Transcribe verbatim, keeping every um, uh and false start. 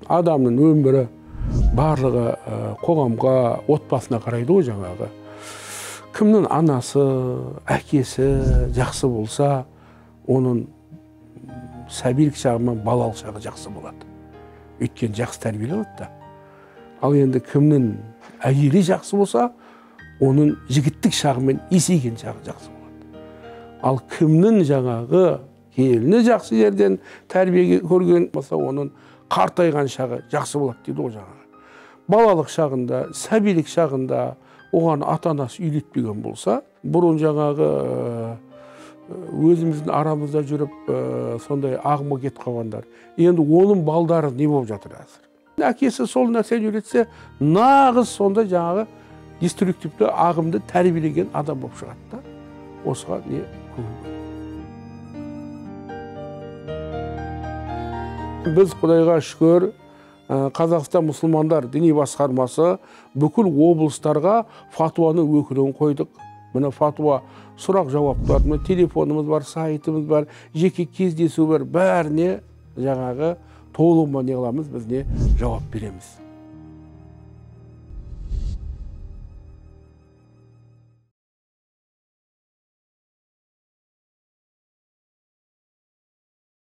адамдын өмүрү барлығы қоғамға, отбасына қарайды ғой жаңағы. Кімнің анасы, әкесі жақсы болса, оның сәбилік шағы мен балалық шағы жақсы болады. Өйткені жақсы тәрбиелеп отты. Ал енді кімнің әйелі жақсы болса, оның жігіттік шағы мен есейген шағы жақсы болады. Ал кімнің жаңағы келіні жақсы жерден тәрбие көрген болса, оның қартайған шағы жақсы болады дейді ғой жаңағы. Балалық шағында, сәбилік шағында оған ата-анасы үйлетпеген болса, бұрын жаңағы өзіміздің арамызда жүріп сондай ағымға кетіп қалғандар. Енді оның балдары не болып жатыр әзір? Әкесі сол нәрсені үйретсе, нағыз сонда жаңағы деструктивті ағымды тәрбиелеген адам болып шығады да. Осыға не көңіл. Біз Құдайға шүкір, Қазақстан мұсылмандар діни басқармасы бүкіл облыстарға фатуаны өкілін қойдық. Мына фатуа сұрақ жауаптар, телефонымыз бар, сайтымыз бар, жеке кездесу бар, бәріне жаңағы толығымен не қыламыз, біз не жауап береміз.